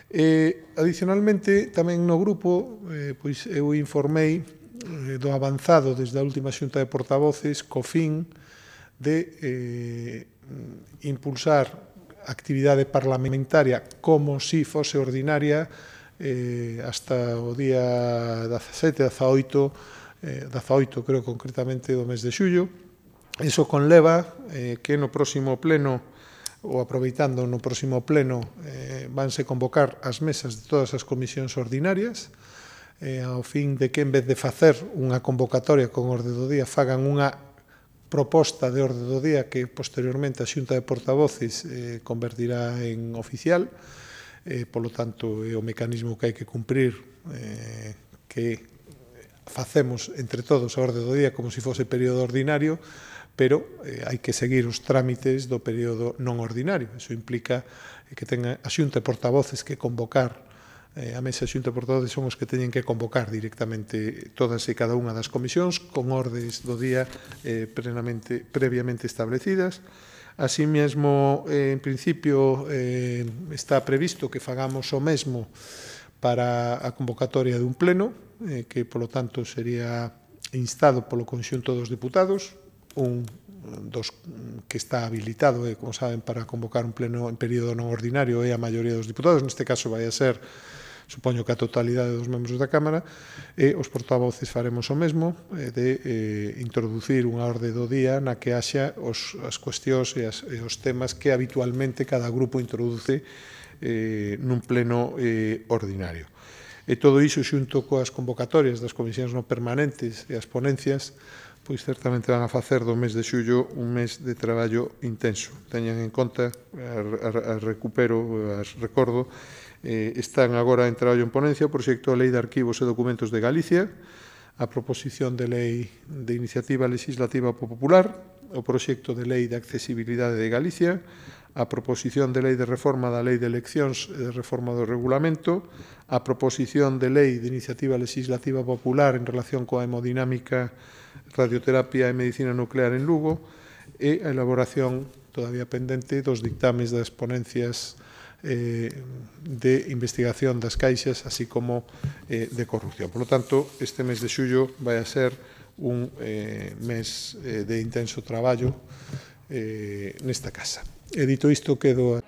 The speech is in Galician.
Adicionalmente, tamén no grupo, pois eu informei do avanzado desde a última xunta de portavoces co fin de impulsar actividade parlamentaria como si fose ordinaria hasta o día 17, 18, creo concretamente, do mes de xullo. Iso conleva que no próximo pleno, ou aproveitando no próximo pleno, vanse convocar as mesas de todas as comisións ordinarias, ao fin de que, en vez de facer unha convocatoria con orde do día, fagan unha proposta de orde do día que posteriormente a Xunta de Portavoces convertirá en oficial. Polo tanto, é o mecanismo que hai que cumprir, que facemos entre todos a orde do día como se fose período ordinario, pero hai que seguir os trámites do período non ordinario. Iso implica que tenga a Xunta de Portavoces que convocar, a mesa de Xunta de Portavoces son os que teñen que convocar directamente todas e cada unha das comisións con ordes do día previamente establecidas. Así mesmo, en principio, está previsto que fagamos o mesmo para a convocatoria dun pleno, que, polo tanto, sería instado polo conxunto dos diputados, un dos que está habilitado, como saben, para convocar un pleno en período non ordinario é a maioría dos diputados, neste caso vai a ser, supoño que a totalidade dos membros da Cámara, e os portavoces faremos o mesmo, de introducir unha orde do día na que haxa as cuestións e os temas que habitualmente cada grupo introduce nun pleno ordinario. E todo iso xunto coas convocatorias das comisións non permanentes e as ponencias, pois certamente van a facer do mes de xullo un mes de traballo intenso. Teñan en conta, recordo, están agora en traballo en ponencia o proxecto de lei de arquivos e documentos de Galicia, a proposición de lei de iniciativa legislativa popular, o proxecto de lei de accesibilidade de Galicia, a proposición de lei de reforma da lei de eleccións e de reforma do regulamento, a proposición de lei de iniciativa legislativa popular en relación coa hemodinámica, radioterapia e medicina nuclear en Lugo, e a elaboración todavía pendente dos dictames das ponencias de investigación das caixas, así como de corrupción. Por lo tanto, este mes de xullo vai a ser un mes de intenso traballo nesta casa. E dito isto, quedo